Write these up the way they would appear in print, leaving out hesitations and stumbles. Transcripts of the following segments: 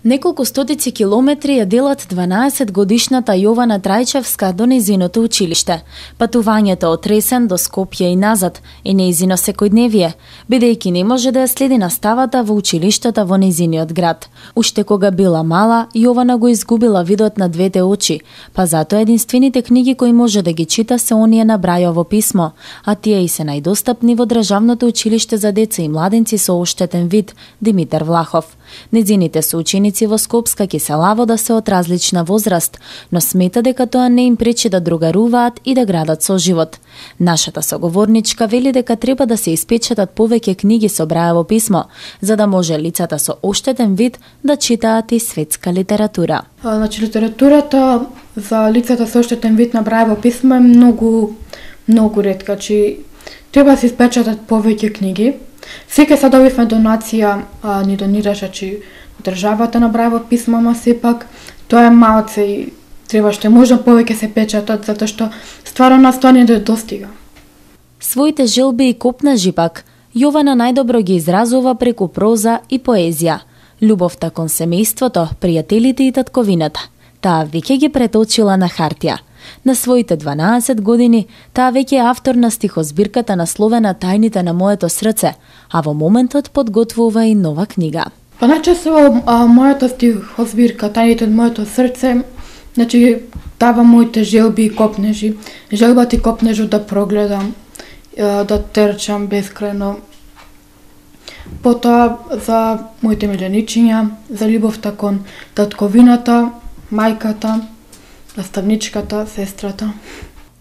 Неколку стотици километри ја делат 12-годишната Јована Трајчевска до нејзиното училиште. Патувањето од Ресен до Скопје и назад е нејзино секојдневие, бидејќи не може да ја следи наставата во училиштата во нејзиниот град. Уште кога била мала, Јована го изгубила видот на двете очи, па затоа единствените книги кои може да ги чита се оние на Брајово писмо, а тие и се најдостапни во Државното училиште за деца и младенци со оштетен вид Димитар Влахов. Нејзините соученици во Скопска Киселавода се од различна возраст, но смета дека тоа не им пречи да другаруваат и да градат соживот. Нашата соговорничка вели дека треба да се испечатат повеќе книги со Брајово писмо, за да може лицата со оштетен вид да читаат и светска литература. Значи литературата за лицата со оштетен вид на Брајово писмо е многу ретка, че треба да се испечатат повеќе книги. Секој се добивме донација, ни донираше че државата на Брајово писмо, ама сепак тоа е малце и треба што можна повеќе се печатат, затоа што стварно нас тоа не достига. Своите желби и копнежи пак, Јована најдобро ги изразува преку проза и поезија. Љубовта кон семејството, пријателите и татковината. Таа веќе ги преточила на хартија. На своите 12 години, таа веќе е автор на стихозбирката насловена Тајните на моето срце, а во моментот подготвува и нова книга. Па најчесто мојата стихозбирка Тајните на моето срце, значи дава моите желби и копнежи. Желбата и копнежот да прогледам, да трчам бескрајно. Потоа за моите миленичиња, за љубовта кон татковината, мајката, наставничката, сестрата.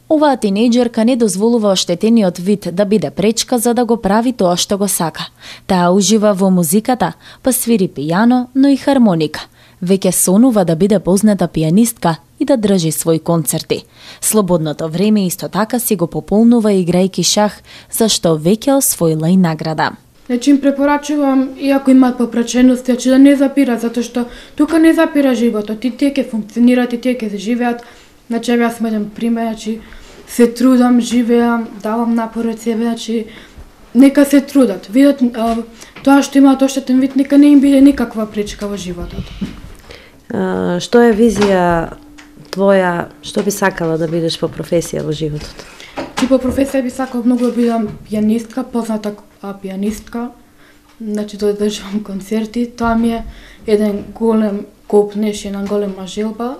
Оваа тинејџерка не дозволува оштетениот вид да биде пречка за да го прави тоа што го сака. Таа ужива во музиката, па свири пијано, но и хармоника. Веќе сонува да биде позната пијанистка и да држи своји концерти. Слободното време исто така си го пополнува играјки шах, зашто веќе освоила и награда. Значи им препорачувам, иако имаат попречености, че да не запират, затоа што тука не запира животот, и тие ќе функционираат, и тие ќе живеат. Значи јас сум еден пример, значи се трудам, живеам, давам напор од себе, значи нека се трудат. Видат тоа што имаат оштетен вид, нека не им биде никаква пречка во животот. Што е визија твоја, што би сакала да бидеш по професија во животот? И по професија би сакала многу да бидам пијанистка, позната пијанистка, значи да држам концерти. Тоа ми е еден голем копнеж, една голема желба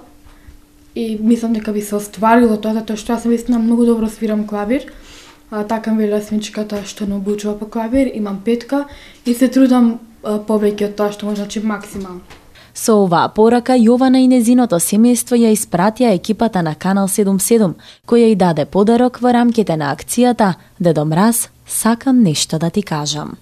и мислам дека би се остварило тоа, затоа што јас вистина многу добро свирам клавир. Така ми вели свинчката што не обучува по клавир, имам 5 и се трудам повеќе од тоа што може, значи максимално. Со оваа порака Јована и незиното семејство ја испратија екипата на Канал 77, која и даде подарок во рамките на акцијата Дедо Мраз, сакам нешто да ти кажам.